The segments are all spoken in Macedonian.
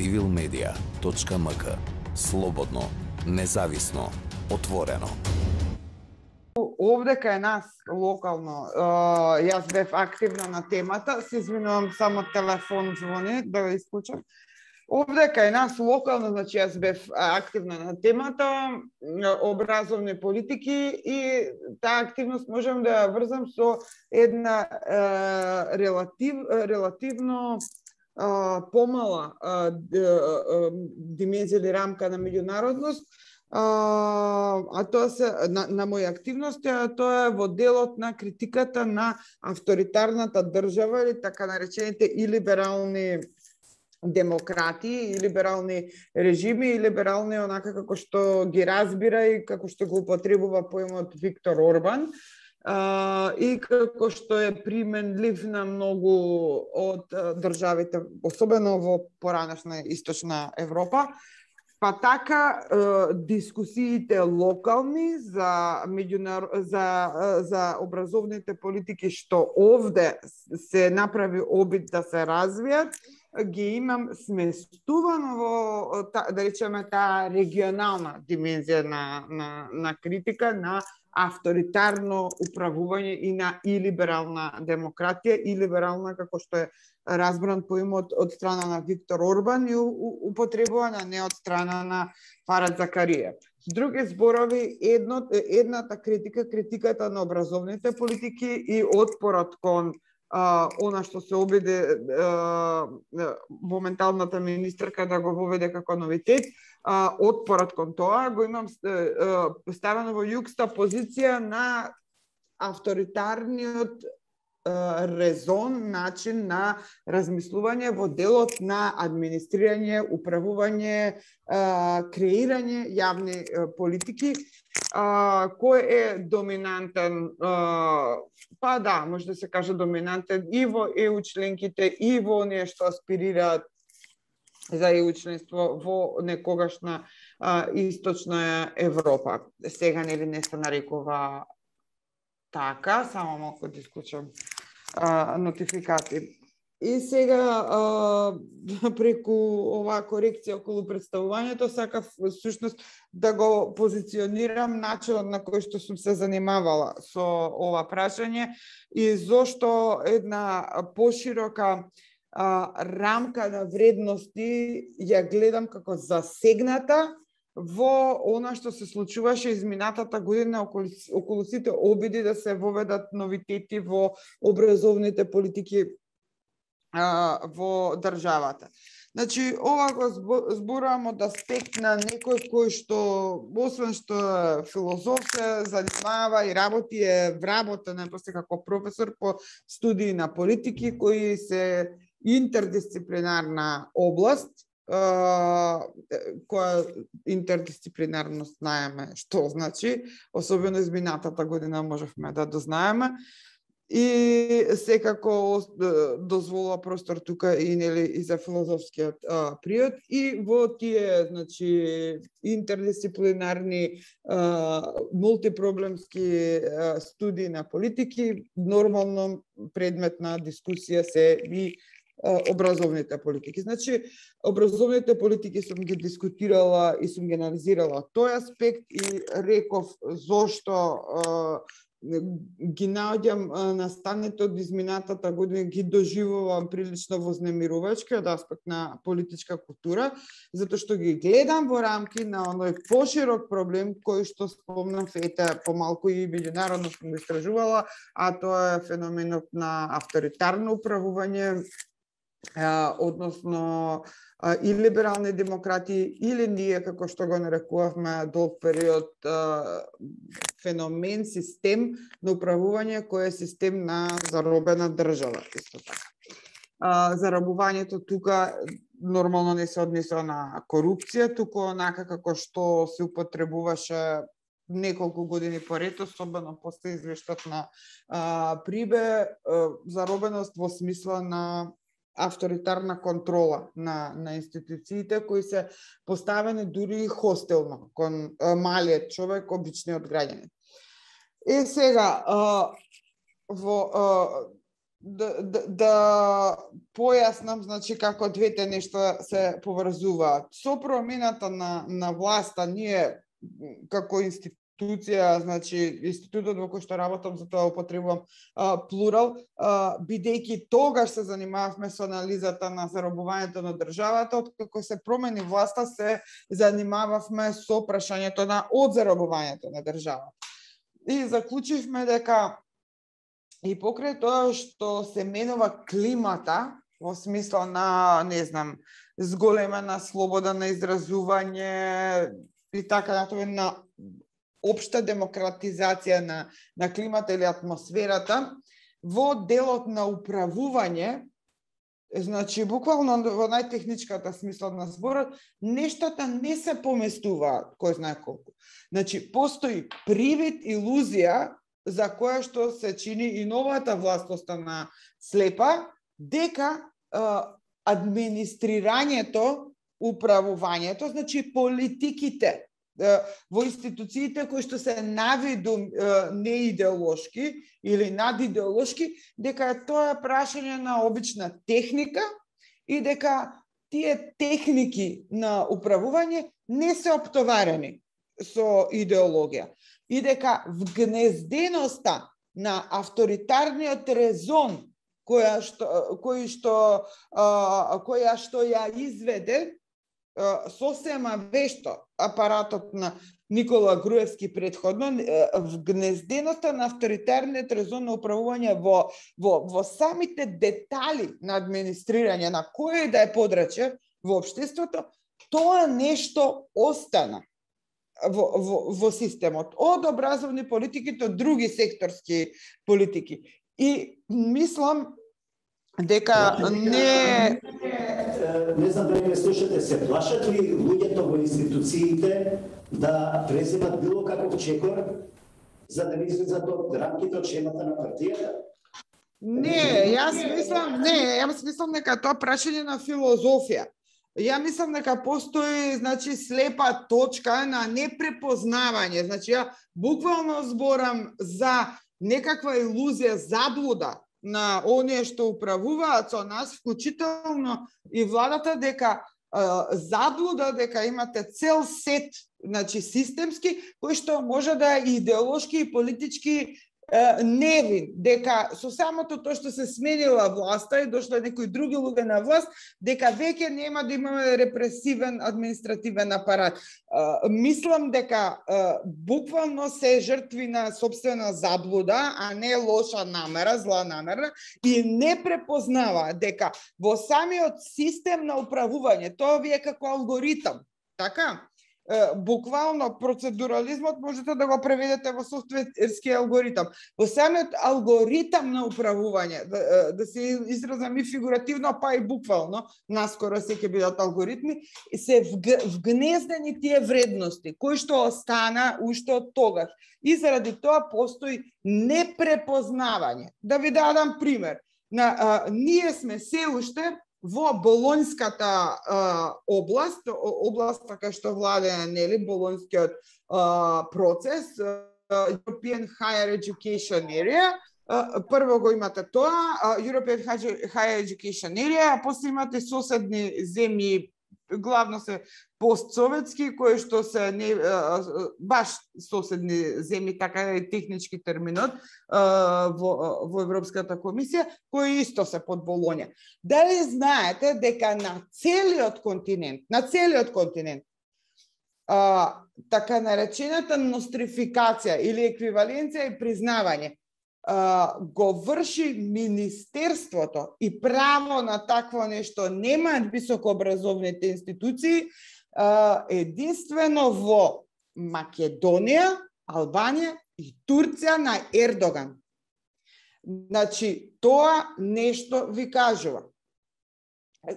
civilmedia.mk. Слободно, независно, отворено. Овде кај нас локално, јас бев активна на темата, се извинувам, само телефон звони, да го исклучам. Овде кај нас локално, значи јас бев активна на темата, образовни политики и таа активност можам да ја врзам со една релативно помала димензија или рамка на меѓународност, а тоа се на моја активност, тоа е во делот на критиката на авторитарната држава или така наречените илиберални демократии, илиберални режими, илиберални онака како што ги разбира и како што го употребува поимот Виктор Орбан, и како што е применлив на многу од државите, особено во поранешна Источна Европа. Па така, дискусиите локални за образовните политики што овде се направи обид да се развијат, ги имам сместувано во, да речеме, таа регионална димензија на критика, на авторитарно управување и на илиберална демократија, илиберална како што е разбран поимот од страна на Виктор Орбан и употребувана не од страна на Фарад Закарија. С други зборови, едната критиката на образовните политики и отпорот кон она што се обиде моменталната министерка да го воведе како новитет, отпорот кон тоа го имам ставено во јукста позиција на авторитарниот резон, начин на размислување во делот на администрирање, управување, креирање јавни политики, кој е доминантен, па да, може да се каже доминантен и во ЕУ членките, и во оние што аспирираат за ЕУ членство во некогашна Источна Европа. Сега нели не се нарекува така, само малку да исклучам нотификати. И сега, преку оваа корекција околу представувањето, сакав всушност да го позиционирам начинот на кој што сум се занимавала со ова прашање и зошто една поширока рамка на вредности ја гледам како засегната во она што се случуваше изминатата година околу сите обиди да се воведат новитети во образовните политики во државата. Значи, ова го зборувам од аспект на некој кој што, освен што филозоф се занимава и работи, е вработен после како професор по студии на политики, кои се интердисциплинарна област, која интердисциплинарност знаеме што значи, особено изминатата година можевме да дознаеме. И секако дозволува простор тука и нели и за филозофскиот приод и во тие, значи, интердисциплинарни мултипроблемски студии на политики, нормално предмет на дискусија се и образовните политики. Значи, образовните политики сум ги дискутирала и сум ги анализирала тој аспект и реков зошто ги наоѓам настаните од изминатата година, ги доживувам прилично вознемирувачки од аспект на политичка култура, затоа што ги гледам во рамки на оној поширок проблем кој што спомнав, помалку и меѓународно сум го истражувала, а тоа е феноменот на авторитарно управување, односно и либерални демократии, или ние, како што го нарекувавме долг период, феномен, систем на управување кој е систем на заробена држава, исто така. Заробувањето тука нормално не се однесува на корупција, туку онака како што се употребуваше неколку години поред, особено после извештајот на Прибе, заробеност во смисла на авторитарна контрола на институциите кои се поставени дури и хостелно кон малиот човек, обичниот граѓанин. Сега во да појаснам, значи, како двете нешта се поврзуваат. Со промената на власта, ние како институција, значи, институтот во кој што работам, за тоа употребувам плурал, бидејќи тогаш се занимававме со анализата на заробувањето на државата, откако се промени власта, се занимававме со прашањето на одзаробувањето на државата. И заклучивме дека и покрај тоа што се менува климата, во смисла на, не знам, зголемена слобода на изразување и така натаму, на општа демократизација на климата или атмосферата, во делот на управување, значи, буквално во најтехничката смисла на зборот, нештата не се поместуваат, кој знае колку. Значи, постои привид, илузија, за која што се чини и новата власт остана слепа, дека администрирањето, управувањето, значи политиките во институциите кои што се навиду неидеолошки или надидеолошки, дека тоа е прашање на обична техника и дека тие техники на управување не се оптоварени со идеологија. И дека вгнезденоста на авторитарниот резон која што ја изведе сосема вешто апаратот на Никола Груевски предходно, вгнезденоста на авторитарниот резон на управување во самите детали на администрирање на кој да е подрачје во општеството, тоа нешто остана во системот, од образовни политики до други секторски политики. И мислам дека не знам дали ме слушате, се плашат ли луѓето во институциите да преземат било каков чекор за да не излезат од рамките од шемата на партијата? Јас мислам дека тоа прашање на филозофија. Ја мислам дека постои, значи, слепа точка на непрепознавање. Значи, ја буквално зборам за некаква илузија, заблуда на оние што управуваат со нас, вклучително и владата, дека заблуда дека имате цел сет, значи, системски, кој што може да е идеолошки и политички невин, дека со самото тоа што се сменила власта и дошла некои други луѓе на власт, дека веќе нема да имаме репресивен административен апарат. Мислам дека буквално се жртви на собствена заблуда, а не лоша намера, зла намера, и не препознава дека во самиот систем на управување, тоа ви е како алгоритам, така? Буквално процедурализмот можете да го преведете во софтверски алгоритам. Во самиот алгоритам на управување, да се изразам и фигуративно, па и буквално, наскоро се ќе бидат алгоритми, се вгнездени тие вредности, кои што остана уште од тогаш. И заради тоа постои непрепознавање. Да ви дадам пример. Ние сме се уште во болонската област кај што владее, нели, болонскиот процес, European Higher Education Area. Прво го имате тоа, European Higher Education Area, а после имате соседни земји, главно се постсоветски, кои што се не баш соседни земји, така е технички терминот во Европската комисија, кои исто се под Болонја. Дали знаете дека на целиот континент, така наречената нострификација или еквиваленција и признавање го врши Министерството и право на такво нешто немаат високообразовните институции единствено во Македонија, Албанија и Турција на Ердоган. Значи, тоа нешто ви кажува.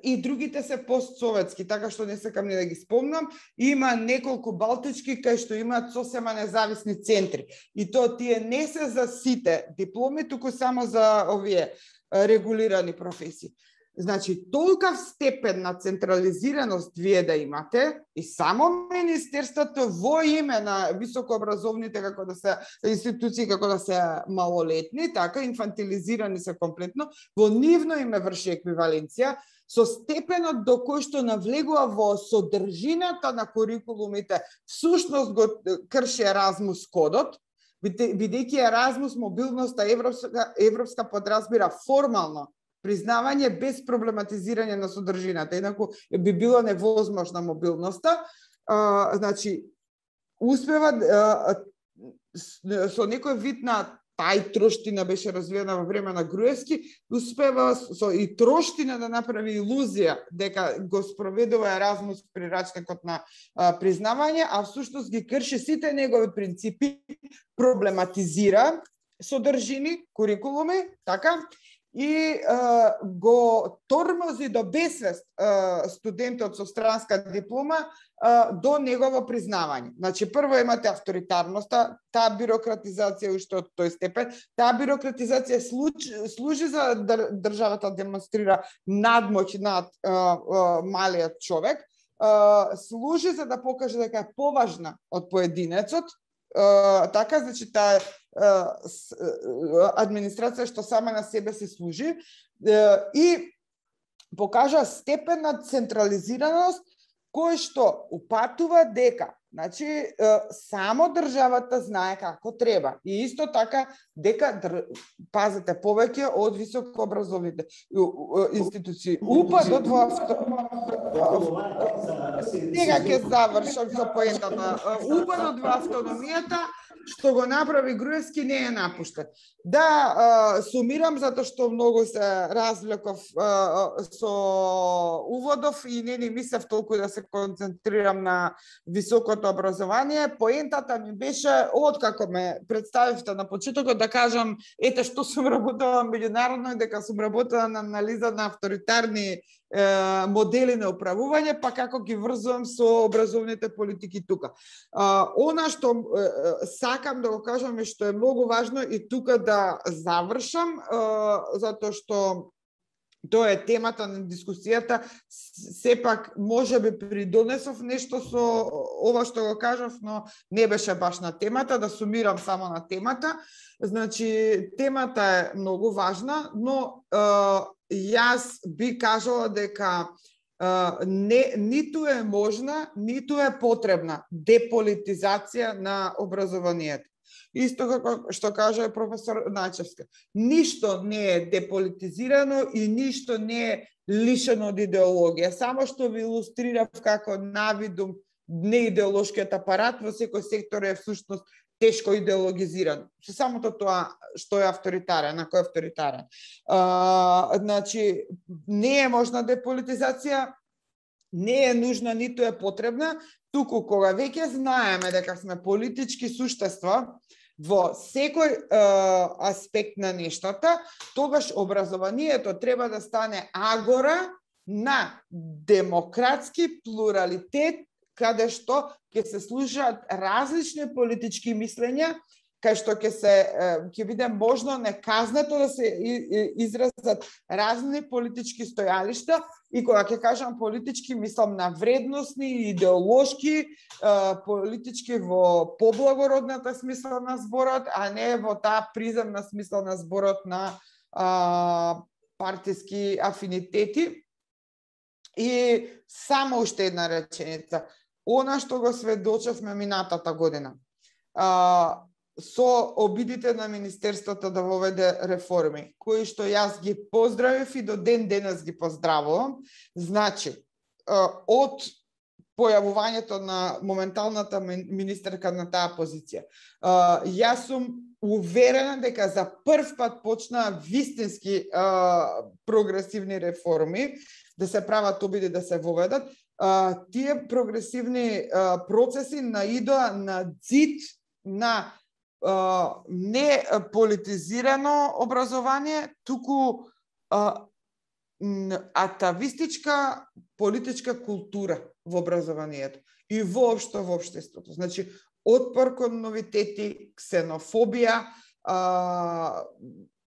И другите се постсоветски, така што не сакам ни да ги спомнам. Има неколку балтички кај што имаат сосема независни центри. И тоа тие не се за сите дипломи, туку само за овие регулирани професии. Значи, толкав степен на централизираност вие да имате и само Министерството во име на високообразовните како да се институции како да се малолетни, така инфантилизирани се комплетно, во нивно име врши еквиваленција со степенот до кој што навлегува во содржината на курикулумите, всушност го крши Еразмус кодот, бидејќи Еразмус мобилноста европска подразбира формално признавање без проблематизирање на содржината, инаку би било невозможна мобилноста. Значи, успева со некој вид на троштина беше развиена во време на Груевски, успева со и троштина да направи илузија дека го спроведува Еразмус при рачникот на признавање, а всушност ги крши сите негови принципи, проблематизира содржини, курикулуми, така, и го тормози до бесвест студентот со странска диплома до негово признавање. Значи, прво имате авторитарноста, таа бирократизација уште од тој степен, таа бирократизација служи за државата демонстрира надмоќ над малиот човек, служи за да покаже дека е поважна од поединецот, така, значи, таа администрација што сама на себе се служи и покажа степен на централизираност кој што упатува дека, значи, само државата знае како треба. И исто така дека, пазете, повеќе од високообразовните институции. Упадот во Сега ќе завршам со поентата. Упадот во автономијата што го направи Груевски не е напуштен. Да, сумирам затоа што многу се развлеков со уводов и не ни мислев толку да се концентрирам на високото образование. Поентата ми беше, откако ме представивте на почетокот, да кажам, ете што сум работела меѓународно и дека сум работела на анализа на авторитарни модели на управување, па како ги врзувам со образовните политики тука. Она што сакам да го кажам и што е многу важно и тука да завршам, затоа што тоа е темата на дискусијата, сепак можеби придонесов нешто со ова што го кажав, но не беше баш на темата, да сумирам само на темата. Значи, темата е многу важна, но јас би кажала дека ниту е можна, ниту е потребна деполитизација на образованието. Исто како што кажа професор Начевска. Ништо не е деполитизирано и ништо не е лишено од идеологија. Само што ви илустрирав како навидум неидеолошкиот апарат во секој сектор е всушност тешко идеологизиран. Со самото тоа што е авторитарен, на кој е авторитарен. Значи, не е можна деполитизација, не е нужна, ниту е потребна, туку кога веќе знаеме дека сме политички суштества во секој аспект на нештата, тогаш образованието треба да стане агора на демократски плуралитет, каде што ќе се слушаат различни политички мислења, кај што ќе биде можно неказнето да се изразат разни политички стојалишта, и кога ќе кажам политички, мислам на вредностни, идеолошки, политички во поблагородната смисла на зборот, а не во таа приземна смисла на зборот на партиски афинитети. И само уште една реченица. Она што го сведочевме минатата година, со обидите на Министерството да воведе реформи, кои што јас ги поздравив и до ден денес ги поздравувам. Значи, од појавувањето на моменталната министерка на таа позиција, јас сум уверена дека за прв пат почнаа вистински прогресивни реформи да се прават обиди да се воведат. Тие прогресивни процеси наидоа на ѕид на не политизирано образование, туку атавистичка политичка култура во образованието и воопшто во општеството. Значи, отпор кон новитети, ксенофобија,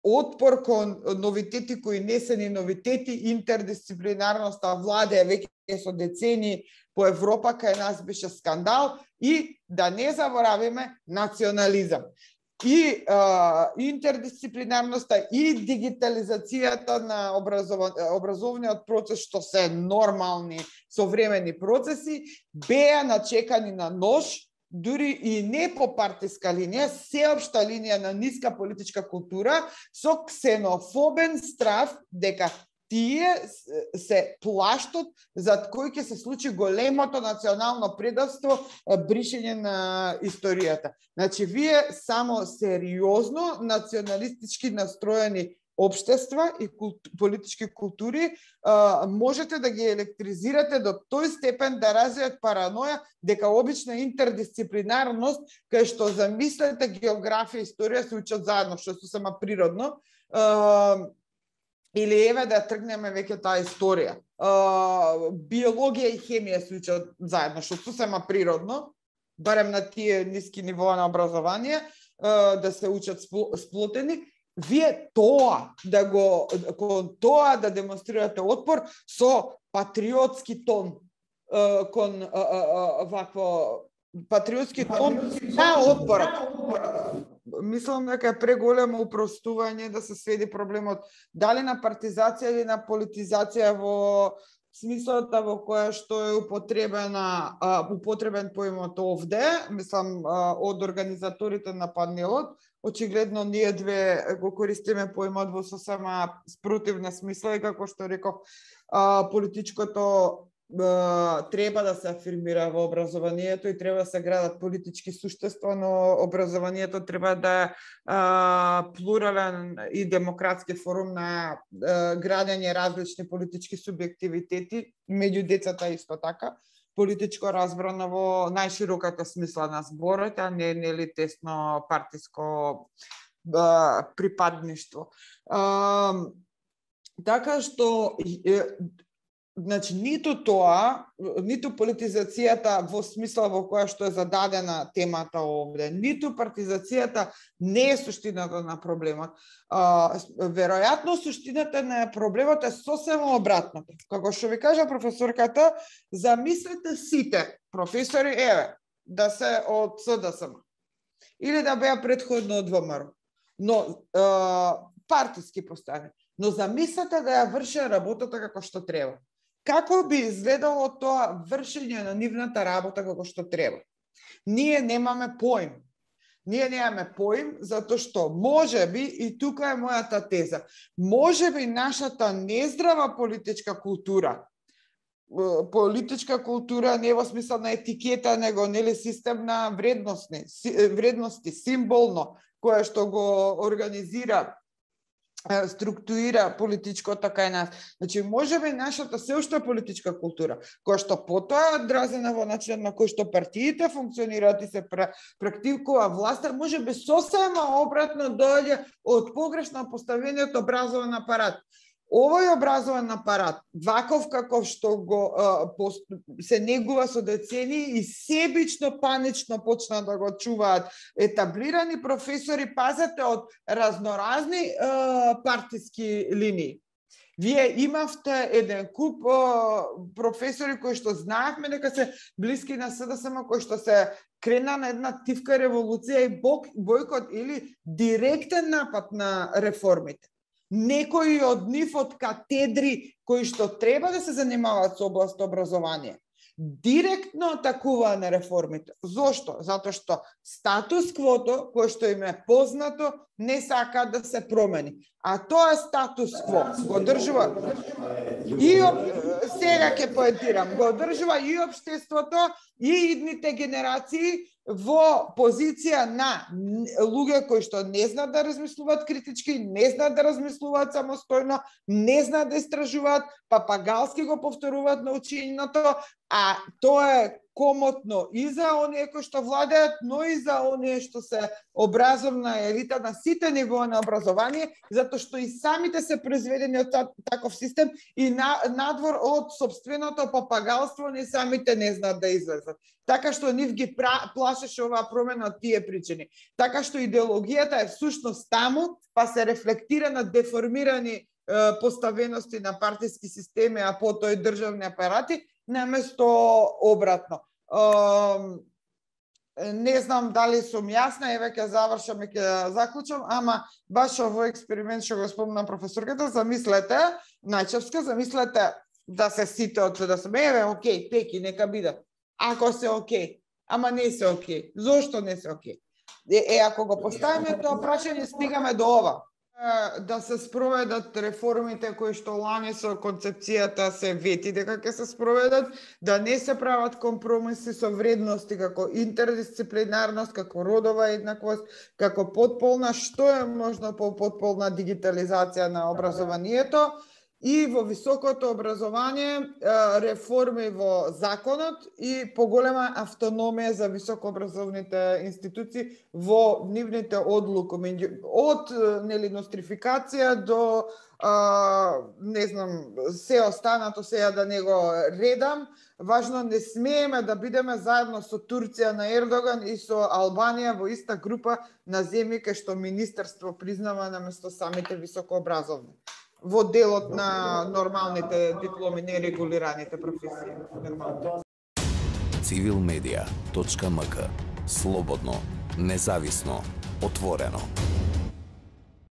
отпор кон новитети кои не се ни новитети, интердисциплинарноста владе веќе со децени по Европа, кај нас беше скандал, и да не заборавиме национализам. И интердисциплинарноста и дигитализацијата на образовниот процес, што се нормални современи процеси, беа начекани на нож, дури и не по партиска линија, сеопшта линија на ниска политичка култура, со ксенофобен страв дека тие се плаштот зад кој ќе се случи големото национално предавство, бришење на историјата. Значи, вие само сериозно националистички настроени општества и политички култури можете да ги електризирате до тој степен да развијат параноја дека обична интердисциплинарност, кај што замислете географија и историја се учат заедно, што е сосема природно, или еве да тргнеме веќе таа историја. Биологија и хемија се учат заедно, што сосема природно, барем на тие ниски нивоа на образование, да се учат сплотени. Вие тоа кон тоа да демонстрирате отпор со патриотски тон, кон вакво патриотски тон на отпорот. Мислам дека е преголемо упростување да се сведи проблемот дали на партизација или на политизација во смислата во која што е употребен поимот овде, мислам од организаторите на панелот. Очигледно ние две го користиме поимот во сосема спротивна смисла и како што реков, политичкото треба да се афирмира во образованието и треба да се градат политички суштества, но образованието треба да е плурален и демократски форум на градење различни политички субјективитети, меѓу децата исто така, политичко разбрано во најшироката смисла на зборот, а не нели тесно партиско припадништво. Така што значи, ниту тоа, ниту политизацијата во смисла во која што е зададена темата овде, ниту партизацијата не е суштината на проблемот. Веројатно суштината на проблемот е сосема обратното. Како што ви кажа професорката, замислете сите професори, еве, да се од СДСМ или да беа предходно од ВМРО, но партиски поставени. Но замислете да ја врши работата како што треба. Како би изгледало тоа вршење на нивната работа како што треба? Ние немаме поим. Ние немаме поим затоа што можеби, и тука е мојата теза, можеби нашата нездрава политичка култура не во смисла на етикета, него нели систем на вредности, символно, кое што го организира, структурира политичкото кај нас. Значи, можеби нашата сеошта политичка култура, која што потоа одразена во начинот на кој што партиите функционираат и се практикува власта, можеби сосема обратно доаѓа од погрешно поставениот образовен апарат. Овој образовен апарат, ваков каков што го се негува со децени и себично, панично почна да го чуваат етаблирани професори, пазете, од разноразни партиски линии. Вие имавте еден куп професори кои што знаевме дека се блиски на СДСМ, кои што се крена на една тивка револуција и бојкот или директен напад на реформите. Некои од нив од катедри кои што треба да се занимаваат со област образование, директно атакуваа на реформите. Зошто? Затоа што статус-квото, кој што им е познато, не сака да се промени. А тоа статус-кво го држува и сега ќе поентирам, го држува и општеството и идните генерации во позиција на луѓе кои што не знаат да размислуваат критички, не знаат да размислуваат самостојно, не знаат да истражуваат, папагалски го повторуваат наученото, а тоа е комотно и за оние кои што владеат, но и за оние што се образовна елита на сите нивоа на образование, затоа што и самите се произведени од таков систем и надвор од собственото папагалство не самите не знаат да излезат. Така што нив ги плашеше оваа промена од тие причини. Така што идеологијата е всушност таму, па се рефлектира на деформирани поставености на партиски системи, а потоа и државни апарати, наместо обратно. Не знам дали сум јасна, еве ќе завршам и ќе заклучам, ама баш овој експеримент што го спомна професорката, замислете, Најчевска, замислете да се сите од да сме, еве, окей, пеки, нека биде. Ако се окей, ама не се окей. Зошто не се окей? Ако го поставиме тоа прашање, стигаме до ова. Да се спроведат реформите кои што лани со концепцијата се вети дека ќе се спроведат, да не се прават компромиси со вредности како интердисциплинарност, како родова еднаквост, како потполна, што е можно по потполна дигитализација на образованието, и во високото образование реформи во законот и поголема автономија за високообразовните институции во нивните одлуки, од нострификација до не знам, се останато сега да не го редам. Важно, не смееме да бидеме заедно со Турција на Ердоган и со Албанија во иста група на земји кај што министерство признава наместо самите високообразовни во делот на нормалните дипломи, нерегулираните професии. Civilmedia.mk. Слободно, независно, отворено.